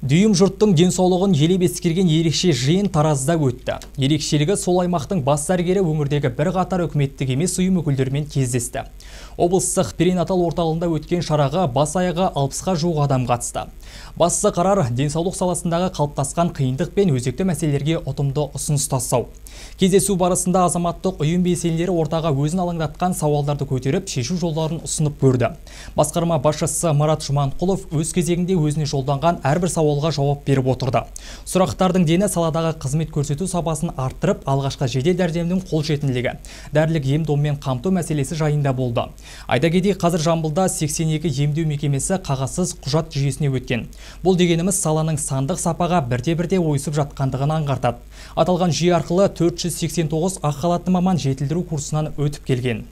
Дүйім жұрттың денсаулығын елеп ескерген ерекше жиын Таразда өтті. Ерекшелігі сол аймақтың бас дәрігері өңірдегі бір қатар үкіметтік емес ұйым өкілдерімен кездесті. Облыстық перинатал орталығында өткен шараға бас аяғы 60-ға жуық адам қатысты. Басты қарар денсаулық саласындағы қалыптасқан қиындық пен өзекті мәселелерге ұтымды ұсыныс тастау. Кездесу барысында азаматтық ұйым белсенділері ортаға өзін алаңдатқан сауалдарды көтеріп, шешу жолдарын ұсынып көрді. Басқарма басшысы Марат Жұманқұлов өз кезегінде өзіне жолданған әрбір сауалға жауап беріп отырды. Сұрақтардың дені саладағы қызмет көрсету сапасын арттырып, алғашқы жедел жәрдемнің қолжетімділігі, дәрілік ем-доммен қамту мәселесі жайында болды. Айта кетейік, қазір Жамбылда 82 емдеу мекемесі қағазсыз құжат жүйесіне өткен. Бұл дегеніміз саланың сандық сапаға бірте-бірте ойысып жатқандығын аңғартады. Аталған жүйе арқылы 489 ақ халатты маман жетілдіру курсынан өтіп келген.